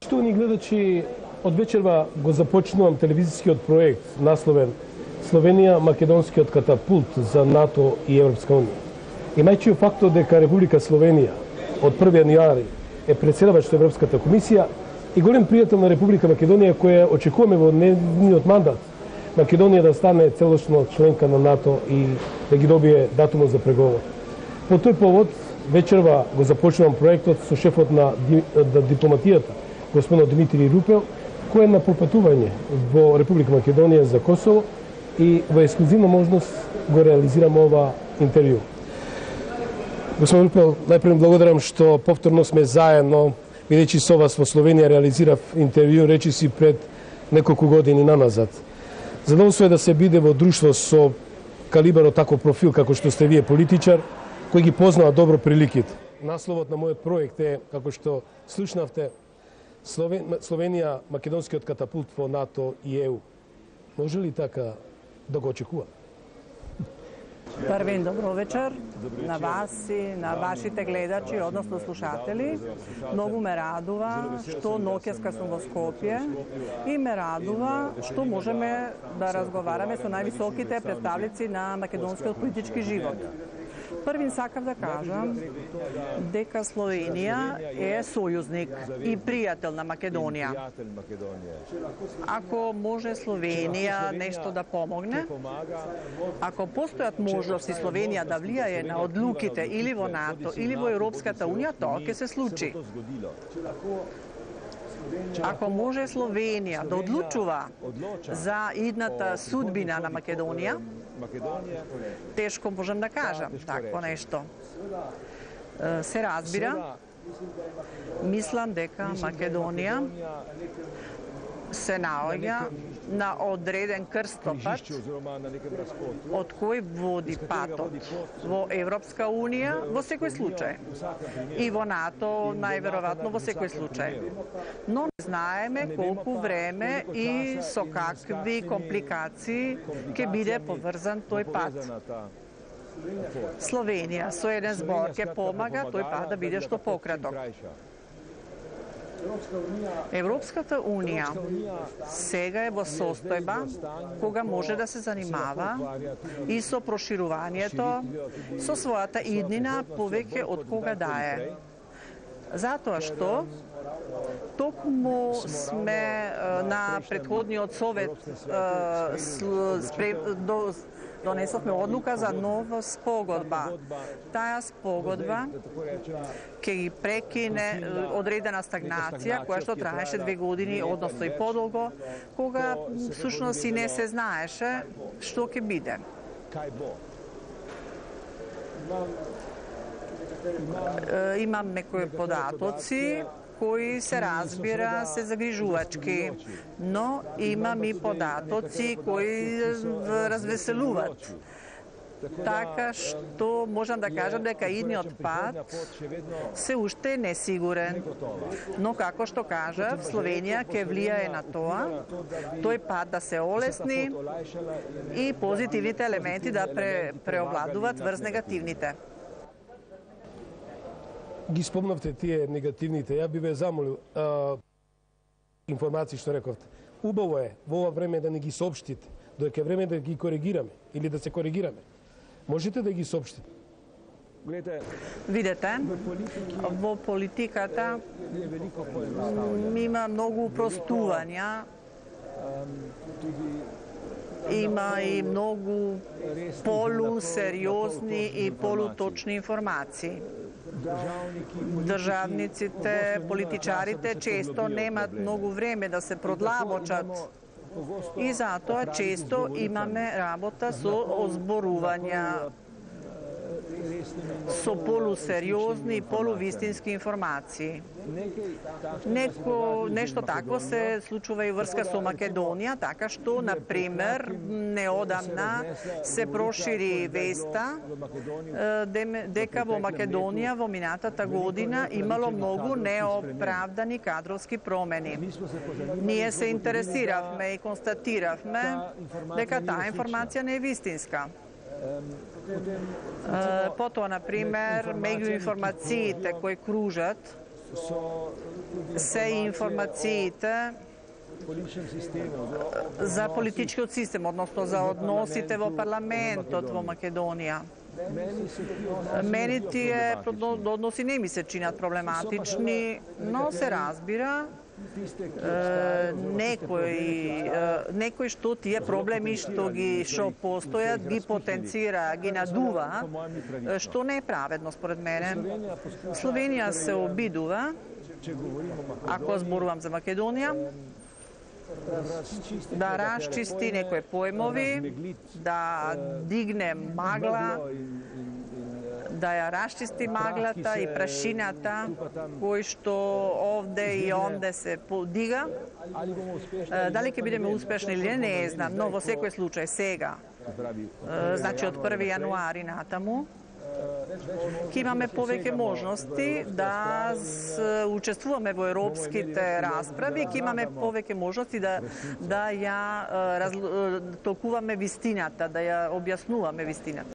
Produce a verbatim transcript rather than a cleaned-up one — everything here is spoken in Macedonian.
Поштовани гледачи, од вечерва го започнувам телевизискиот проект насловен Словенија македонскиот катапулт за НАТО и Европска унија. Имајќи фактот дека Република Словенија од први јануари е претседавач во Европската комисија и голем пријател на Република Македонија, која очекуваме во нивниот мандат Македонија да стане целосно членка на НАТО и да ги добие датумот за преговор. По тој повод вечерва го започнувам проектот со шефот на дипломатијата, господин Димитри Рупел, кој е на пропатување во Република Македонија за Косово и во ексклузивна можност го реализирам ова интервју. Господин Рупел, најпред благодарам што повторно сме заедно, бидејќи со вас во Словенија реализирав интервју речиси пред неколку години наназад. Задоволство е да се биде во друштво со калибар од таков профил како што сте вие политичар, кој ги познава добро приликите. Насловот на мојот проект е, како што слушнавте, Словенија македонскиот катапулт во НАТО и Е У. Може ли така да го очекува? Првен добро вечер на вас и на вашите гледачи, односно слушатели. Многу ме радува што ноќеска сум во Скопје и ме радува што можеме да разговараме со највисоките представници на македонскиот политички живот. Првин сакав да кажам дека Словенија е сојузник и пријател на Македонија. Ако може Словенија нешто да помогне, ако постојат можности Словенија да влијае на одлуките или во НАТО или во Европската унија, тоа ќе се случи. Ако може Словенија да одлучува за идната судбина на Македонија, тешко можам да кажам такво нешто. Се разбира, мислам дека Македонија се наоѓа на одреден крстопат од кој води патот во Европска унија во секој случај и во НАТО најверојатно во секој случај. Но не знаеме колку време и со какви компликации ќе биде поврзан тој пат. Словенија со еден збор ќе помага тој пат да биде што пократок. Европската унија сега е во состојба кога може да се занимава и со проширувањето со својата иднина повеќе од кога да е. Затоа што токму сме на претходниот совет донесовме одлука за нова спогодба. Таа спогодба ќе ги прекине одредена стагнација која што траеше две години, односно и подолго, кога всушност и не се знаеше што ќе биде. Имам некои податоци кои се разбира се загрижувачки, но имам и податоци кои развеселуват. Така што можам да кажам дека идниот пат се уште е несигурен. Но како што кажав, Словенија ќе влијае на тоа, тој пат да се олесни и позитивните елементи да пре, преовладуваат врз негативните. Ги спомнавте тие негативните. Ја би ве замолил а, информации што рековте. Убаво е во ова време да не ги соопштите, додека е време да ги коригираме или да се коригираме. Можете да ги соопштите? Видете, во политиката има многу упростувања, има и многу полусериозни и полуточни информации. Државниците, политичарите често немат многу време да се продлабочат и затоа често имаме работа со озборувања, со полусериозни и полувистински информации. Неко, нешто такво се случува и врска со Македонија, така што, например, неодамна се прошири веста дека во Македонија во минатата година имало многу неоправдани кадровски промени. Ние се интересиравме и констатиравме дека таа информација не е вистинска. Потоа, например, меѓу информациите кои кружат се информациите за политичкиот систем, односно за односите во парламентот во Македонија. Мене тие односи не ми се чинат проблематични, но се разбира некои некои што тие проблеми што ги што постојат ги потенцира, ги надува, што не е праведно според мене. Словенија се обидува, ако зборувам за Македонија, да расчисти некои појмови, да дигне магла, да ја расчисти маглата и прашината кој што овде и онде се подига. Дали ќе бидеме успешни или не, не знам, но во секој случај сега, значи од први јануари натаму, ќе имаме повеќе можности да учествуваме во европските расправи, ќе имаме повеќе можности да да ја толкуваме вистината, да ја објаснуваме вистината.